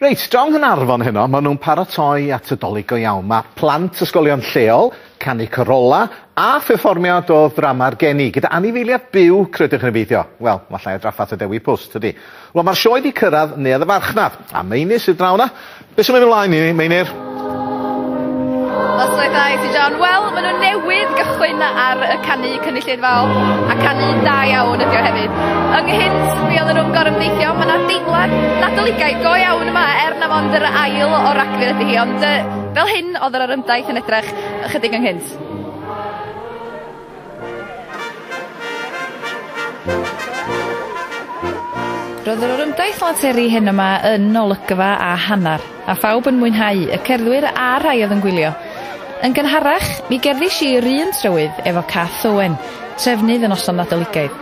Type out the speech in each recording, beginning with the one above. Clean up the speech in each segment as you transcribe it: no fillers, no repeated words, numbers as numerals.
Reit, draw yng Nghaernarfon heno, maen nhw'n paratoi at y Dolig go iawn. Mae plant ysgolion lleol, canu corola a pherfformiad o ddrama'r geni, gyda anifeiliaid byw, credwch neu beidio. Wel, mae llai o drafferth y Dewi Pws, tydi? Wel, mae'r sioe wedi cyrraedd Neuadd y Farchnad, a Meinir sydd draw 'na. Be sy'n mynd ymlaen i ni, Meinir? Noswaith dda i ti John. Wel, maen nhw newydd gychwyn ar y canu cynulleidfaol a canu da iawn ydi o hefyd. Ynghynt, mi oedden nhw'n gorymdeithio, mae yna deimlad Nadoligaidd go iawn yma, er na mond yr ail o Ragfyr ydy hi, ond fel hyn oedd yr orymdaith yn edrych ychydig ynghynt. Roedd yr orymdaith lanteri heno 'ma yn olygfa a hannar, a phawb yn mwynhau, y cerddwyr a'r rhai oedd yn gwylio. Yn gynharach, mi gerddish i yr un trywydd efo Kath Owen, trefnydd y noson Nadoligaidd.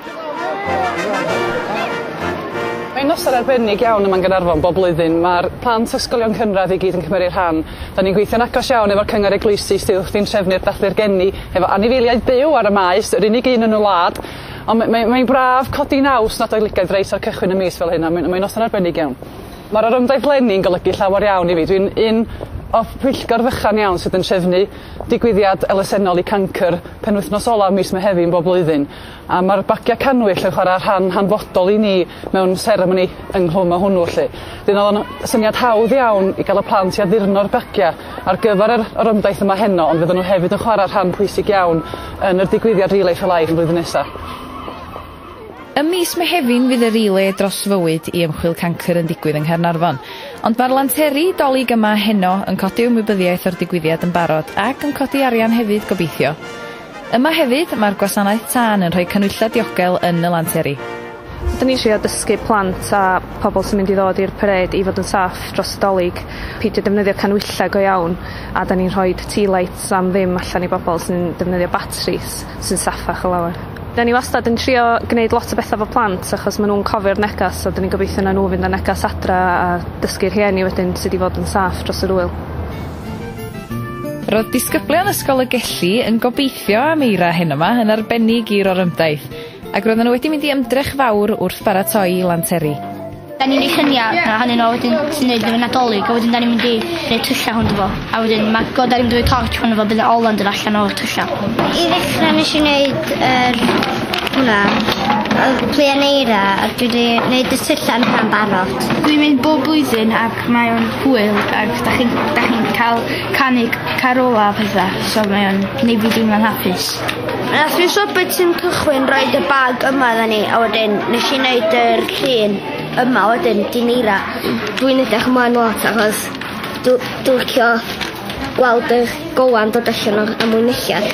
Mae'n noson arbennig iawn yma'n Gaernarfon bob blwyddyn. Ma'r plant ysgolion cynradd i gyd yn cymeru rhan. 'Dan ni'n gweithio'n agos iawn efo'r cyngor eglwysi sydd wrthi'n trefnu'r dathlu'r geni hefo anifeiliaid byw ar y maes, yr unig un yn y wlad. On' ma' mae mae'n braf codi naws Nadoligaidd reit ar cychwyn y mis fel hyn a mae'n mae'n noson arbennig iawn. Ma'r orymdaith leni'n golygu llawer iawn i fi. Dwi'n un o pwyllgor fychan iawn sydd yn trefnu digwyddiad elusennol i cancr penwythnos ola mis Mehefin bob blwyddyn. A ma'r bagia cannwyll yn chwara rhan hanfodol i ni mewn seremoni ynghlwm â hwnnw 'lly. 'Dyn o'dd o'n syniad hawdd iawn i ga'l y plant i addurno'r bagia ar gyfer yr orymdaith yma heno ond fydden nhw hefyd yn chwara rhan pwysig iawn yn yr digwyddiad Relay for Life y flwyddyn nesa. Ym mis Mehefin fydd y Relay dros Fywyd i Ymchwil Cancr yn digwydd yng Nghaernarfon. Ond mae'r lanteri Dolig yma heno yn codi ymwybyddiaeth o'r digwyddiad yn barod ac yn codi arian hefyd gobeithio. Yma hefyd, mae'r gwasanaeth tân yn rhoi canhwyllau diogel yn y lanteri. Dyn ni'n trio dysgu plant a pobl sy'n mynd i ddod i'r parêd i fod yn saff dros y Dolig, peidio defnyddio canhwyllau go iawn, a 'dan ni'n rhoid tea lights am ddim allan i bobl sy'n defnyddio batris sy'n saffach o lawer. 'Dan ni wastad yn trio gneud lot o betha 'fo plant achos ma' nw'n cofio'r negas so 'dan ni'n gobeithio na nhw fynd â negas adra a dysgu rhieni wedyn sud i fod yn saff dros yr ŵyl. Roedd disgyblion Ysgol y Gelli yn gobeithio am eira heno 'ma, yn arbennig i'r orymdaith, ac roedden nhw wedi mynd i ymdrech fawr wrth baratoi lanteri. Da ni'n neud llunia ohonyn nhw a wedyn ti'n neud efo Nadolig a wedyn da ni'n mynd i neud tylla rownd fo a wedyn ma' go- da ni'n mynd i roi torch rownd fo bydd 'na ole'n dod allan o'r tylla. I ddechra nesh i neud yr hwnna y pluan eira a dwi 'di neud y tylla yn hwnna'n barod. Dwi'n mynd bob blwyddyn ac mae o'n hwyl ac 'dach chi'n 'dach chi'n ca'l canu carola a petha so mae o'n neud fi deimlo'n hapus. Nath Miss Roberts yn cychwyn roid y bag yma idda ni a wedyn nesh i neud yr llun yma wedyn dim eira. Dwi'n edrych ymlaen lot achos dw dwi licio gweld y golan dod allan o'r amwynelliad.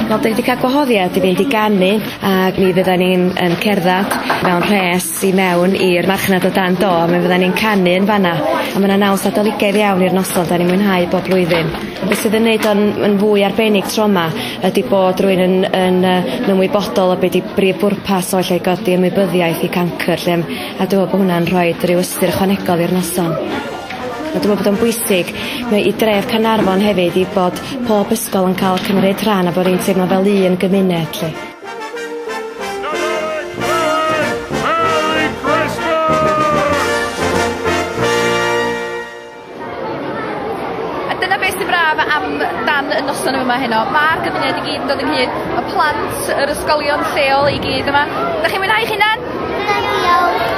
Wel 'dan ni 'di ca'l gwahoddiad i fynd i ganu ag mi fyddan ni'n yn cerddad mewn rhes i mewn i'r marchnad o dan do a mi fyddan ni'n canu yn fan 'na a ma' 'na naws Nadoligaidd iawn i'r noson 'dan ni'n mwynhau bob blwyddyn. Be' sydd yn neud o'n yn fwy arbennig tro 'ma ydi bod rywun yn yn yy yn ymwybodol o be' 'di brif bwrpas o lle godi ymwybyddiaeth i cancyr 'lly a dwi me'wl bo' hwnna'n rhoid ryw ystyr ychwanegol i'r noson. A dwi me'wl bod o'n bwysig mae i dref Caernarfon hefyd i bod pob ysgol yn ca'l cymryd rhan a bod ni'n teimlo fel un gymuned 'lly. Nadolig Llawen! Merry Christmas! A dyna beth sy'n braf am dan y noson yma heno. Ma'r gymuned i gyd yn dod ynghyd, y plant, yr ysgolion lleol i gyd yma. Dach chi'n mwynhau 'ych hunan? Yndw diolch.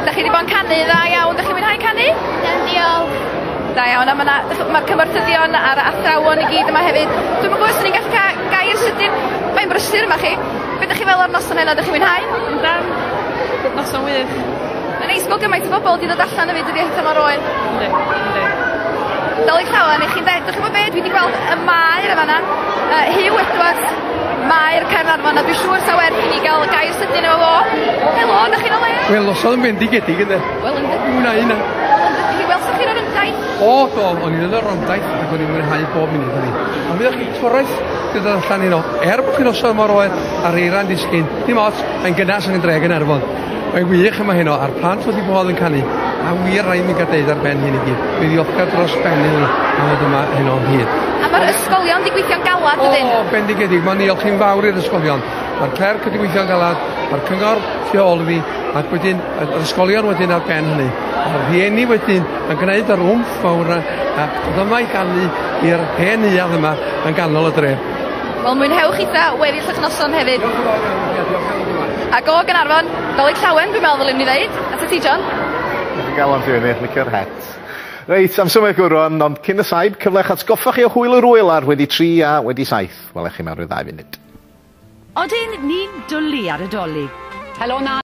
Dach chi 'di bod yn canu dda iawn. Dach chi'n mwynhau canu? Yndw diolch. Da iawn a ma' 'na ma'r cymorthyddion a'r athrawon i gyd yma hefyd. Dwi'm yn gwybod os 'dan ni'n gallu ca' gair sydyn. Mae'n brysur yma chi. Be' 'dych chi fel o'r noson heno? Dych chi'n mwynhau? Yndan. Noson wych. Mae'n neis gweld gymaint o bobol 'di dod allan hefyd dydi eitha mor oer. Yndi yndi. Dolig llawen i chi'n deu 'dych chi'mbo be' dwi 'di gweld y maer yn fan 'na yy Huw Edwards maer Caernarfon a dwi siŵr sa werth i ni ga'l gair sydyn efo fo. Helo 'dach chi'n o leia? Wel noson yn fendigedig ynde? Wel yndi. Mwy na un na. Mi welsoch chi'r orymdaith? O do o'n i'n yn yr orymdaith ac o'n i'n mwynhau bob munud o'n i. A mi o'ch chi torraeth gyda allan heno. Er bod chi'n noson mor oer a'r eira'n disgyn, dim ots, mae'n gynnas yn y dre Gaernarfon. Mae'n wych yma heno a'r plant wrth 'u bodd yn canu. A wir rai' mi ga'l deud ar ben hyn i gyd, mi ddiolchgar dros ben iddyn nhw am fod yma heno o hyd. A ma'r ysgolion 'di gweithio'n galad dydyn? O bendigedig, ma'n niolch i'n fawr i'r ysgolion. Ma'r clerc wedi gweithio'n galad, Mae'r cyngor tu ôl i fi, ac wedyn yr ysgolion wedyn ar ben hynny. A'r rhieni wedyn yn gwneud yr wmff fawr yna, a dod yma i ganu i'r hen neuadd yma yn ganol y dref. Wel, mwynhewch eitha weddill eich noson hefyd. Diolch yn fawr iawn i chi, a diolch am ddod yma. Ac o Gaernarfon, Dolig Llawen dwi'n meddwl ddylwn ni ddeud. Atat ti, John. Diolch o galon ti fyny, licio'r het. Reit, am symud gwrwn, ond cyn y saib, cyfle i'ch atgoffa chi o hwyl yr wyl ar wedi 3 a wedi 7. Welech chi mewn rhyw ddau funud. Odyn ni'n dwlu ar y Dolig. Helo na.